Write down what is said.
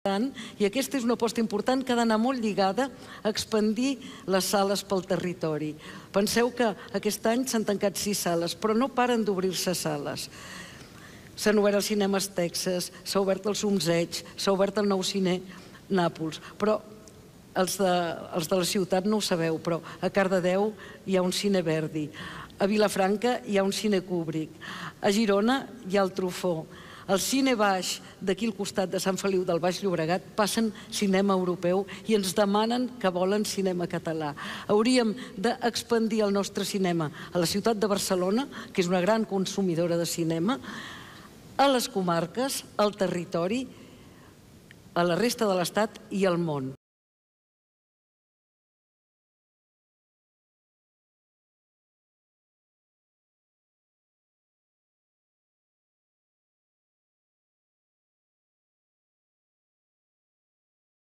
I aquesta és una aposta important que ha d'anar molt lligada a expandir les sales pel territori. Penseu que aquest any s'han tancat 6 sales, però no paren d'obrir-se sales. S'han obert els cinemes Texas, s'ha obert el Zumzeig, s'ha obert el nou cine Nàpols, però els de la ciutat no ho sabeu, però a Cardedeu hi ha un cine Verdi, a Vilafranca hi ha un cine Kubrick, a Girona hi ha el Truffaut. Al cine baix, d'aquí al costat de Sant Feliu del Baix Llobregat, passen cinema europeu i ens demanen que volen cinema català. Hauríem d'expandir el nostre cinema a la ciutat de Barcelona, que és una gran consumidora de cinema, a les comarques, al territori, a la resta de l'Estat i al món.